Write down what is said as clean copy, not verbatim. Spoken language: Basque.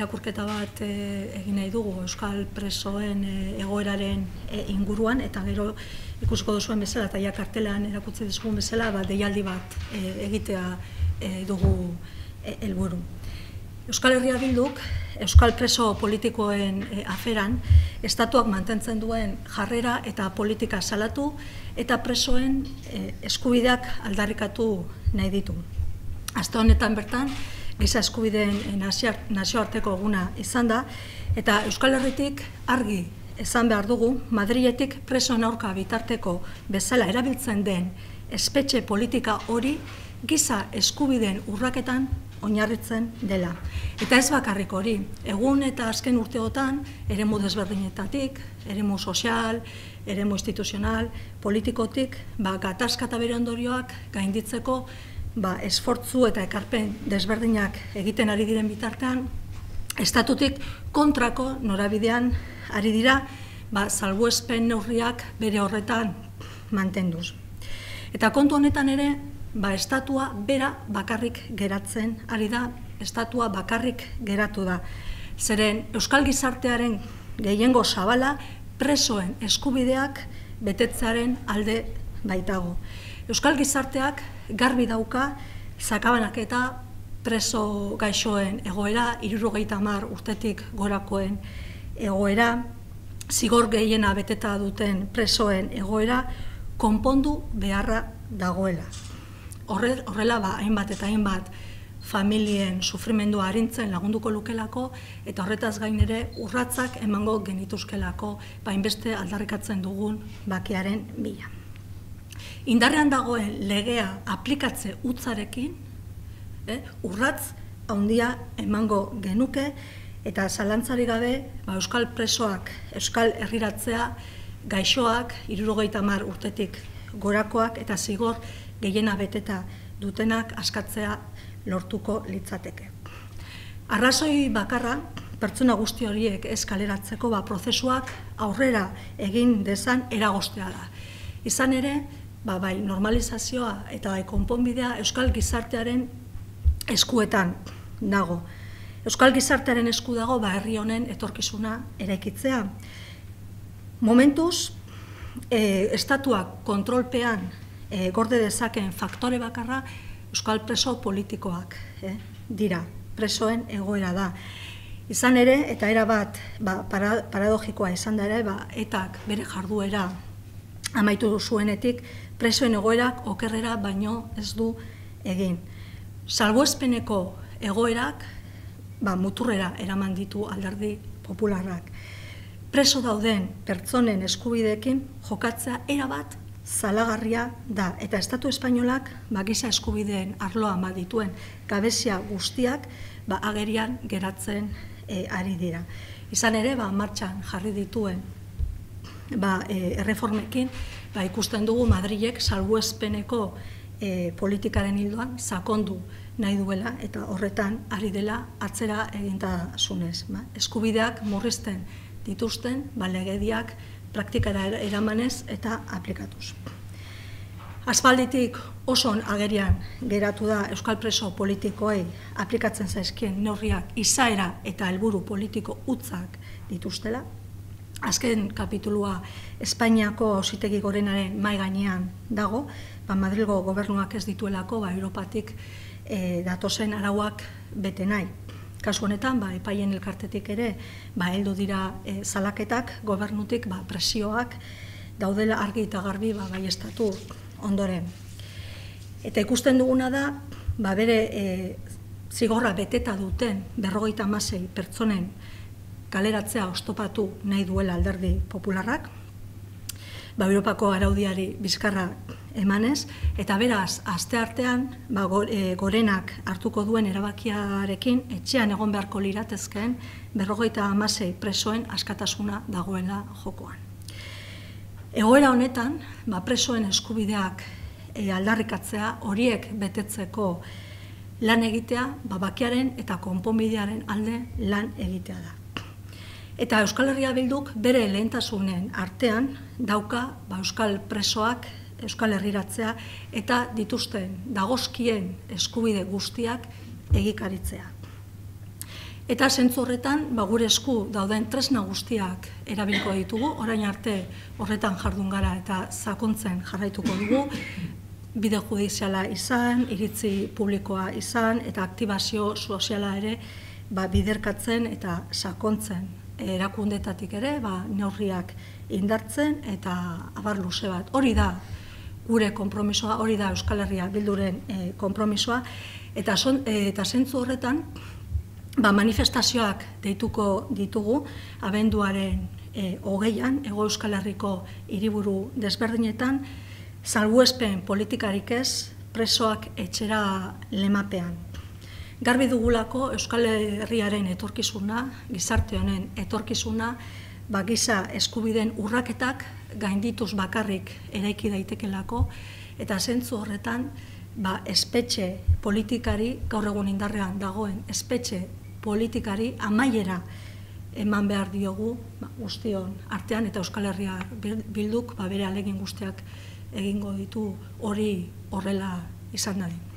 irakurketa bat egin nahi dugu euskal presoen egoeraren inguruan, eta gero ikusiko duzuen bezala, eta ja kartelean erakutsi dizugun bezala, deialdi bat egitea dugu helburu. Euskal Herria Bilduk, euskal preso politikoen aferan, estatuak mantentzen duen jarrera eta politika salatu eta presoen eskubideak aldarrikatu nahi ditu. Aste honetan bertan, giza eskubideen nazioarteko eguna izan da, eta Euskal Herritik argi esan behar dugu, Madriletik presoen aurka bitarteko bezala erabiltzen den espetxe politika hori giza eskubideen urraketan oinarritzen dela. Eta ez bakarrik hori, egun eta azken urteotan, eremu desberdinetatik, eremu sozial, eremu instituzional, politikotik, gatazka eta bere ondorioak gainditzeko esfortzu eta ekarpen desberdinak egiten ari diren bitartean, estatutik kontrako norabidean ari dira, salbuespen neurriak bere horretan mantenduz. Eta kontu honetan ere, estatua bera bakarrik geratzen ari da, estatua bakarrik geratu da. Zeren euskal gizartearen gehiengo zabala presoen eskubideak betetzearen alde baitago. Euskal gizarteak garbi dauka sakabanaketa preso gaixoen egoera, 70 urtetik gorakoen egoera, zigor gehiena beteta duten presoen egoera, konpondu beharra dagoela. Horrela, hainbat eta hainbat familien sufrimendua arintzen lagunduko lukelako, eta horretaz gain ere urratsak emango genituzkelako, hainbeste aldarrikatzen dugun bakearen bila. Indarrean dagoen legea aplikatze hutsarekin, urratz handia emango genuke, eta zalantzari gabe euskal presoak, euskal herriratzea, gaixoak, 70 urtetik gorakoak eta zigor gehiena beteta dutenak askatzea lortuko litzateke. Arrazoi bakarra, pertsona guzti horiek ez kaleratzeko prozesuak aurrera egin dezan eragoztea da. Izan ere, bai normalizazioa eta bai konponbidea euskal gizartearen eskuetan dago. Euskal gizartearen esku dago herri honen etorkizuna eraikitzea. Momentuz, estatuak kontrolpean gorde dezaken faktore bakarra euskal preso politikoak dira, presoen egoera da. Izan ere, eta erabat paradogikoa izan da ere, etak bere jarduera amaitu zuenetik, presoen egoerak okerrera baino ez du egin. Salbuespeneko egoerak muturrera eraman ditu alderdi popularrak. Preso dauden pertsonen eskubideekin jokatzea erabat zalagarria da, eta Estatu Espainolak giza eskubideen arloan dituen gabezia guztiak agerian geratzen ari dira. Izan ere, martxan jarri dituen erreformekin ikusten dugu Madrilek salbuespeneko politikaren ildoan sakondu nahi duela, eta horretan ari dela atzera egintasunez. Eskubideak murrizten dituzten legediak praktikara eramanez eta aplikatuz. Aspalditik oso agerian geratu da euskal preso politikoei aplikatzen zaizkien neurriak izaera eta helburu politiko hutzak dituztela. Azken kapitulua Espainiako Auzitegi Gorenaren mahai gainean dago, Madrilgo gobernuak ez dituelako Europatik datozen arauak bete nahi. Kasu honetan, epaien elkartetik ere, heldu dira salaketak, gobernutik presioak daudela argi eta garbi baieztatu ondoren. Eta ikusten duguna da, bere zigorra beteta duten 56 pertsonen kaleratzea oztopatu nahi duela alderdi popularrak, Europako araudiari bizkarra emanez, eta beraz, asteartean Gorenak hartuko duen erabakiarekin etxean egon beharko liratezkeen 56 presoen askatasuna dagoela jokoan. Egoera honetan, presoen eskubideak aldarrikatzea, horiek betetzeko lan egitea, bakearen eta konponbidearen alde lan egitea da. Eta Euskal Herria Bilduk bere lehentasunen artean dauka euskal presoak euskal herriratzea eta dituzten dagozkien eskubide guztiak egikaritzea. Eta zentzu horretan, gure esku dauden tresna guztiak erabiliko ditugu, orain arte horretan jardun gara eta sakontzen jarraituko dugu, bide judiziala izan, iritzi publikoa izan, eta aktibazio soziala ere biderkatzen eta sakontzen erakundetatik ere, neurriak indartzen eta abar luze bat. Hori da gure konpromisoa, hori da Euskal Herria Bilduren konpromisoa, eta zentzu horretan, manifestazioak deituko ditugu, abenduaren 20an, Hego Euskal Herriko hiriburu desberdinetan, salbuespen politikarik ez, presoak etxera lemapean. Garbi dugulako Euskal Herriaren etorkizuna, gizarte honen etorkizuna, giza eskubideen urraketak gaindituz bakarrik eraiki daitekelako, eta zentzu horretan, espetxe politikari, gaur egun indarrean dagoen espetxe politikari amaiera eman behar diogu guztion artean, eta Euskal Herria Bilduk bere ahalegin guztiak egingo ditu hori horrela izan dadin.